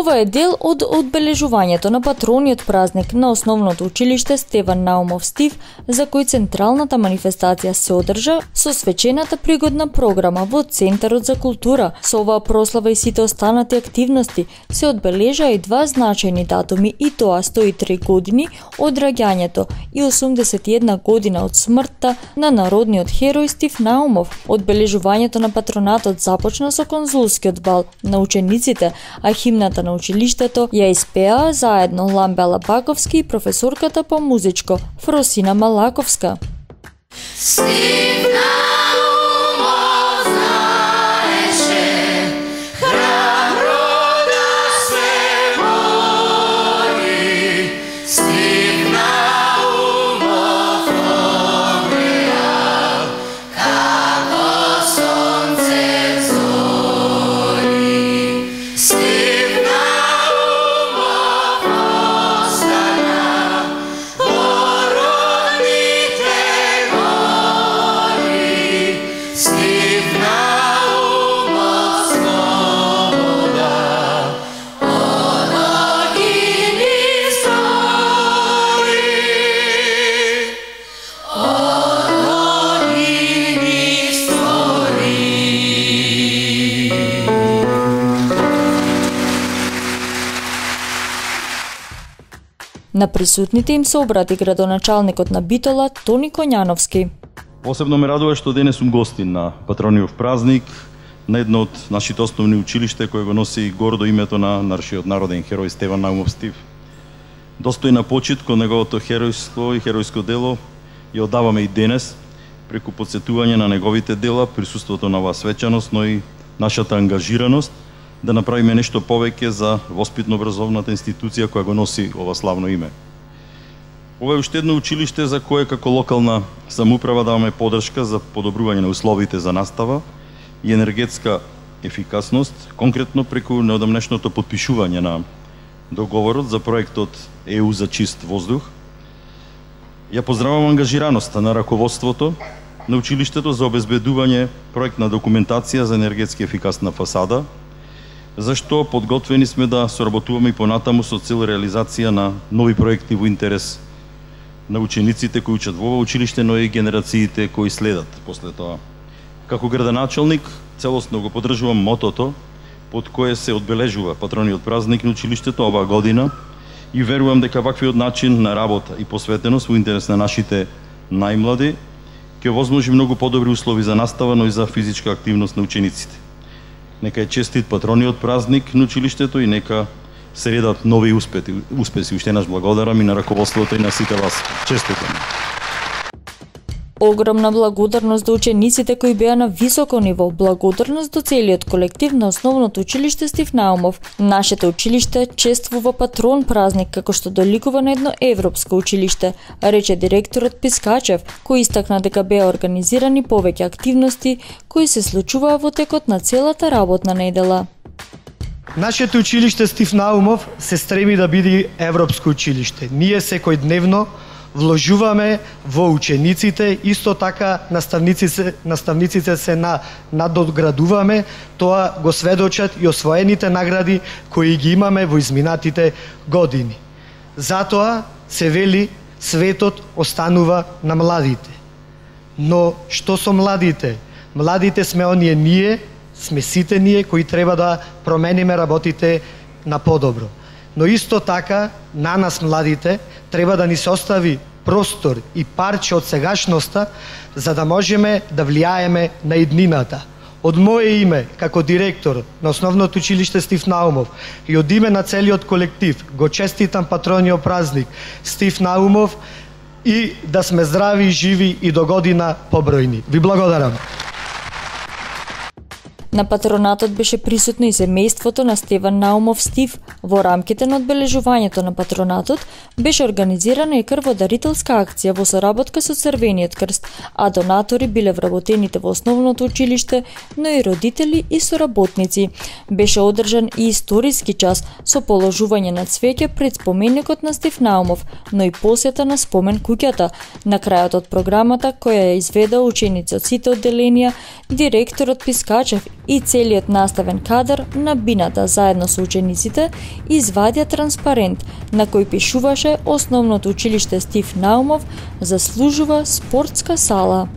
Ова е дел од одбележувањето на патрониот празник на основното училиште Стеван Наумов Стив, за кој централната манифестација се одржа со свечената пригодна програма во Центарот за култура. Со оваа прослава и сите останати активности се одбележаа и два значајни датуми, и тоа 103 години од раѓањето и 81 година од смртта на народниот херој Стив Наумов. Одбележувањето на патронатот започна со конзулскиот бал на учениците, а химната на училиштето ја испеа заедно Ламбела Баковски и професорката по музичко Фросина Малаковска. На присутните им се обрати градоначалникот на Битола Тони Коњановски. Посебно ме радува што денес сум гостин на патрониот празник на едно од нашите основни училиште кој го носи гордо името на нашиот народен херој Стеван Наумов Стив. Достојна почит кон неговото херојство и херојско дело ја оддаваме и денес преку потсетување на неговите дела, присуството на оваа свечаност, но и нашата ангажираност да направиме нешто повеќе за воспитно-образовната институција која го носи ова славно име. Ова е уште едно училиште за кое како локална самоуправа даваме поддршка за подобрување на условите за настава и енергетска ефикасност, конкретно преку неодамнешното потпишување на договорот за проектот ЕУ за чист воздух. Ја поздравувам ангажираноста на раководството на училиштето за обезбедување проектна документација за енергетски ефикасна фасада, зашто подготвени сме да соработуваме и понатаму со цел реализација на нови проекти во интерес на учениците кои учат во ова училиште, но и генерациите кои следат после тоа. Како градоначалник, целосно го поддржувам мотото под кое се одбележува патрониот празник на училиштето оваа година и верувам дека ваквиот начин на работа и посветеност во интерес на нашите најмлади ќе овозможи многу подобри услови за настава, но и за физичка активност на учениците. Нека е честит патрониот празник на училиштето и нека се редат нови успеси. Уште еднаш благодарам и на раководството и на сите вас. Честитам. Огромна благодарност до учениците кои беа на високо ниво, благодарност до целиот колектив на основното училиште Стив Наумов. Нашето училиште чествува патрон празник како што доликува на едно европско училиште, рече директорот Пискачев, кој истакна дека беа организирани повеќе активности кои се случуваа во текот на целата работна недела. Нашето училиште Стив Наумов се стреми да биде европско училиште. Ние секојдневно вложуваме во учениците, исто така наставниците се надоградуваме, тоа го сведочат и освоените награди кои ги имаме во изминатите години. Затоа се вели светот останува на младите. Но што со младите? Младите сме оние ние, сме сите ние кои треба да промениме работите на подобро. Но исто така, на нас младите, треба да ни се остави простор и парче од сегашноста, за да можеме да влијаеме на иднината. Од мое име, како директор на основното училиште Стив Наумов и од име на целиот колектив, го честитам патрониот празник Стив Наумов и да сме здрави, живи и до година побројни. Ви благодарам. На патронатот беше присутно и семејството на Стеван Наумов Стив. Во рамките на одбележувањето на патронатот беше организирана и крводарителска акција во соработка со Црвениот крст, а донатори биле вработените во основното училиште, но и родители и соработници. Беше одржан и историски час со положување на цвеќе пред споменикот на Стив Наумов, но и посета на спомен куќата. На крајот од програмата, која ја изведа ученици од сите одделенија, директорот Пискачев и целиот наставен кадар на бината заедно со учениците извадија транспарент на кој пишуваше Основното училиште Стив Наумов заслужува спортска сала.